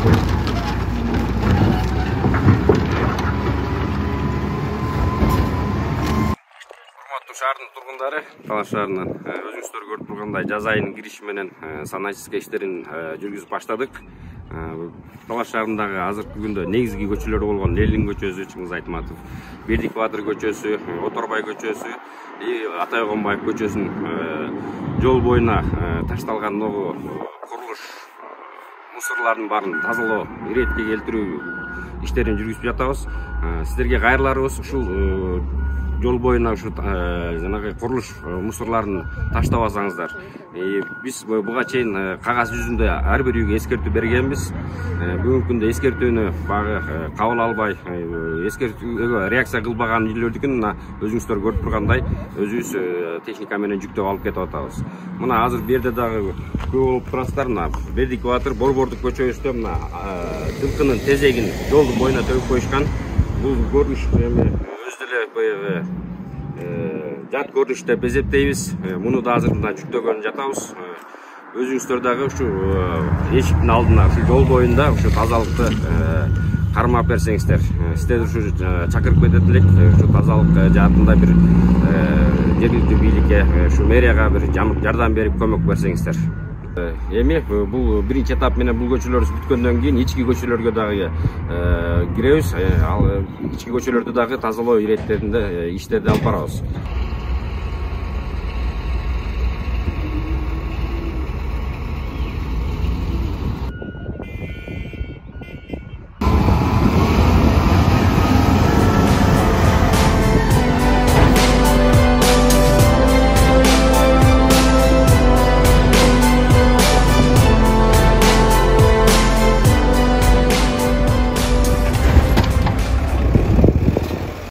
Шаардын тургундары, Талаш шаарынан өзүңүздөр көрүп тургандай жаз айынын кириши менен саначистика иштерин жүргүзүп баштадык. Талаш шаарындагы азыркы күндө негизги көчөлөр болгон Ленин көчөсү, Чыңгыз Айтматов, Бердик Батыр көчөсү, Оторбай көчөсү, Атай Огонбаев көчөсүнүн жол боюна ташталган могу курулуш мусорлордун баарын тазалоо, иретке келтирүү иштерин жүргүзүп жатабыз. Сиздерге кайрыларыбыз ушул жол боюна ушу жанагы курулуш мусорлорун таштабасаңыздар. Биз буга чейин кагаз жүзүндө ар бир үйгө эскертүү бергенбиз. Бүгүнкү күндө эскертүүнү багы кабыл албай, эскертүүгө реакция кылбаган үйлөрдүкүн мына өзүңүздөр көрүп тургандай өзүбүз техника менен жүктөп алып кетип атабыз. Мына азыр бу жерде дагы көп болуп турасыздар. Мына Бердик Батыр, Борбордук көчөбүздө мына жылкынын тезегин жолдун боюна төгүп коюшкан. Бул көрүнүш өз деле баягы жат көрүнүш деп эсептейбиз. Муну да азыр мына жүктөгөн жатабыз. Өзүңүздөр дагы ушу эшиктин алдына, ушу жол боюнда ушу тазалыкты кармап берсеңиздер, сиздерди ушу чакырып кетет элек. Ушу тазалык жаатында бир жергиликтүү бийликке, ушу мэрияга бир жардам берип көмөк берсеңиздер. Эми бул биринчи этап менен бул көчөлөрүбүз бүткөндөн кийин ички көчөлөргө дагы киребиз. Ал ички көчөлөрдү дагы тазалоо иреттеринде иштерди алып барабыз.